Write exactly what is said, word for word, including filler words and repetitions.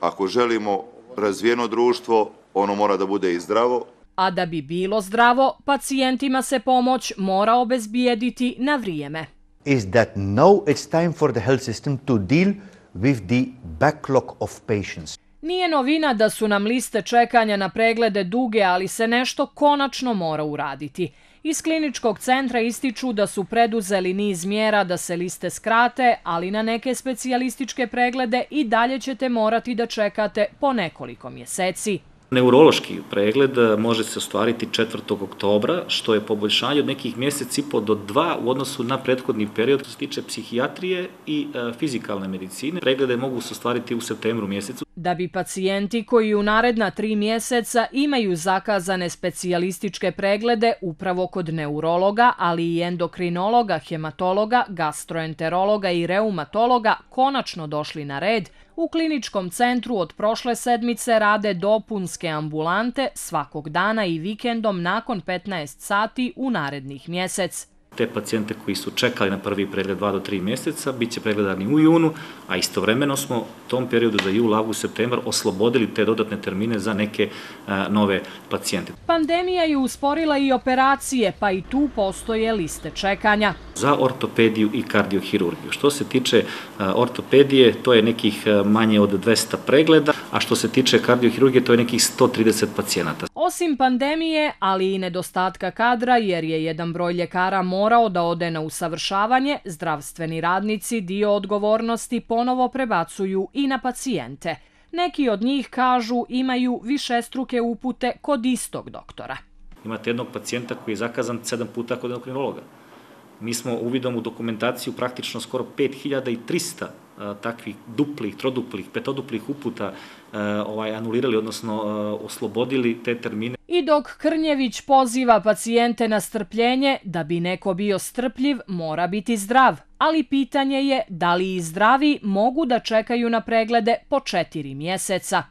Ako želimo razvijeno društvo, ono mora da bude i zdravo. A da bi bilo zdravo, pacijentima se pomoć mora obezbijediti na vrijeme. Is that now it's time for the health system to deal with the backlog of patients. Nije novina da su nam liste čekanja na preglede duge, ali se nešto konačno mora uraditi. Iz kliničkog centra ističu da su preduzeli niz mjera da se liste skrate, ali na neke specijalističke preglede i dalje ćete morati da čekate po nekoliko mjeseci. Neurološki pregled može se ostvariti četvrtog oktobra, što je poboljšanje od nekih mjesec i po do dva u odnosu na prethodni period. Što se tiče psihijatrije i e, fizikalne medicine, preglede mogu se ostvariti u septembru mjesecu. Da bi pacijenti koji u naredna tri mjeseca imaju zakazane specijalističke preglede upravo kod neurologa, ali i endokrinologa, hematologa, gastroenterologa i reumatologa konačno došli na red, u kliničkom centru od prošle sedmice rade dopunske ambulante svakog dana i vikendom nakon petnaest sati u narednih mjesec. Te pacijente koji su čekali na prvi pregled dva do tri mjeseca bit će pregledani u junu, a istovremeno smo u tom periodu za jul, avgust, septembar oslobodili te dodatne termine za neke a, nove pacijente. Pandemija je usporila i operacije, pa i tu postoje liste čekanja. Za ortopediju i kardiohirurgiju. Što se tiče a, ortopedije, to je nekih a, manje od dvesta pregleda, a što se tiče kardiohirurgije, to je nekih sto trideset pacijenata. Osim pandemije, ali i nedostatka kadra, jer je jedan broj ljekara morao da ode na usavršavanje, zdravstveni radnici dio odgovornosti ponovo prebacuju i na pacijente. Neki od njih kažu imaju višestruke upute kod istog doktora. Imate jednog pacijenta koji je zakazan sedam puta kod endokrinologa. Mi smo uvidom u dokumentaciju praktično skoro pet hiljada trista a, takvih duplih, troduplih, petoduplih uputa a, ovaj, anulirali, odnosno a, oslobodili te termine. I dok Krnjević poziva pacijente na strpljenje, da bi neko bio strpljiv, mora biti zdrav. Ali pitanje je da li i zdravi mogu da čekaju na preglede po četiri mjeseca.